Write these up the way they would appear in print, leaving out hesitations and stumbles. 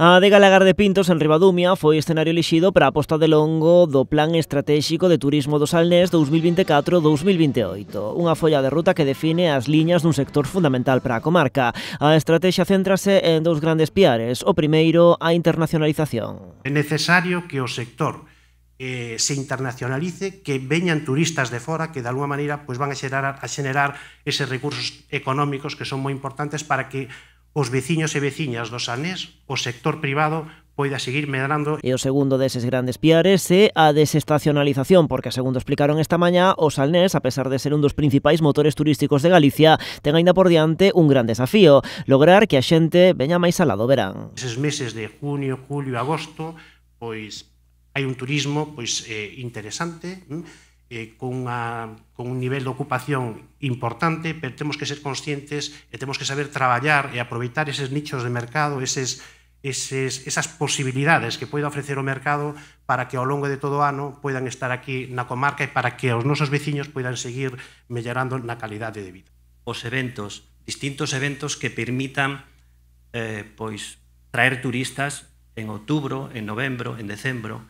A adega Lagar de Pintos, en Ribadumia, foi escenario elixido para a posta de longo do Plan Estratéxico de Turismo do Salnés 2024-2028, unha folla de ruta que define as liñas dun sector fundamental para a comarca. A estrategia céntrase en dous grandes piares. O primeiro, a internacionalización. É necesario que o sector se internacionalice, que veñan turistas de fora que de alguma maneira van a xenerar eses recursos económicos que son moi importantes para que os veciños e veciñas do Salnés, o sector privado, poida seguir medrando. E o segundo deses grandes piares é a desestacionalización, porque, segundo explicaron esta mañá, o Salnés, a pesar de ser un dos principais motores turísticos de Galicia, ten aínda por diante un gran desafío: lograr que a xente veña máis alá do verán. Eses meses de junio, julio e agosto, pois hai un turismo interesante, con un nivel de ocupación importante, pero temos que ser conscientes e temos que saber traballar e aproveitar eses nichos de mercado, esas posibilidades que poida ofrecer o mercado para que ao longo de todo o ano poidan estar aquí na comarca e para que os nosos veciños poidan seguir mellorando na calidade de vida. Os eventos, distintos eventos que permitan traer turistas en outubro, en novembro, en decembro,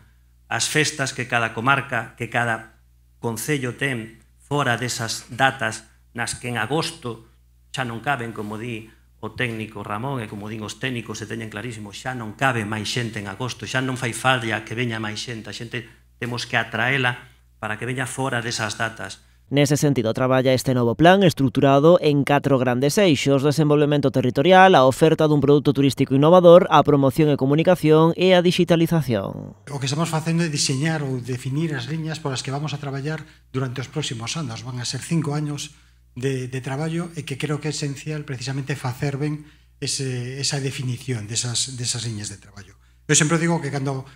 as festas que cada comarca, que cada concello ten fora desas datas nas que en agosto xa non caben, como di o técnico Ramón e como din os técnicos, se teñen clarísimo, xa non cabe máis xente en agosto, xa non fai falla que veña máis xente, a xente temos que atraela para que veña fora desas datas. Nese sentido, traballa este novo plan estruturado en 4 grandes eixos: desenvolvemento territorial, a oferta dun produto turístico innovador, a promoción e comunicación e a digitalización. O que estamos facendo é diseñar ou definir as liñas polas que vamos a traballar durante os próximos anos. Van a ser 5 años de traballo e que creo que é esencial precisamente facer ben esa definición desas liñas de traballo. Eu sempre digo que cando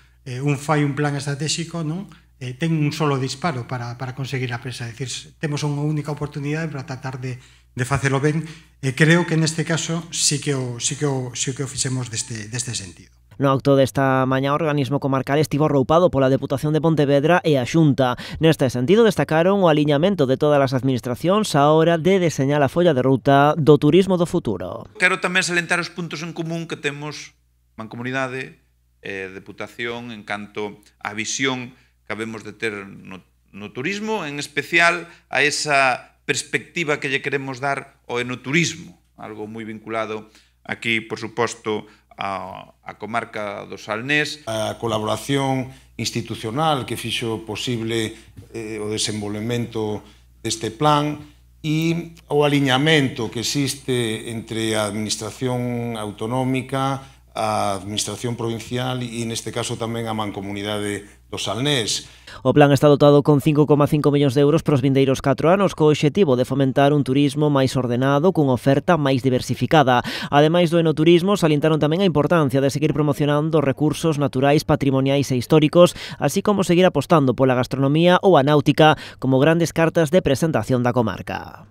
un fai un plan estratégico, non, ten un solo disparo para conseguir a presa. É dicir, temos unha única oportunidade para tratar de facelo ben, e creo que neste caso sí que o fixemos deste sentido. No acto desta mañá, o organismo comarcal estivo arroupado pola Deputación de Pontevedra e a Xunta. Neste sentido, destacaron o aliñamento de todas as administracións á hora de deseñar a folla de ruta do turismo do futuro. Quero tamén salientar os puntos en común que temos Mancomunidade e Deputación en canto á visión que habemos de ter no turismo, en especial a esa perspectiva que lle queremos dar ao enoturismo, algo moi vinculado aquí, por suposto, a comarca do Salnés. A colaboración institucional que fixo posible o desenvolvemento deste plan e o aliñamento que existe entre a administración autonómica, a administración provincial e, neste caso, tamén a Mancomunidade do Salnés. O plan está dotado con 5,5 millóns de euros para os vindeiros 4 anos, co obxectivo de fomentar un turismo máis ordenado, cunha oferta máis diversificada. Ademais do enoturismo, salientaron tamén a importancia de seguir promocionando recursos naturais, patrimoniais e históricos, así como seguir apostando pola gastronomía ou a náutica como grandes cartas de presentación da comarca.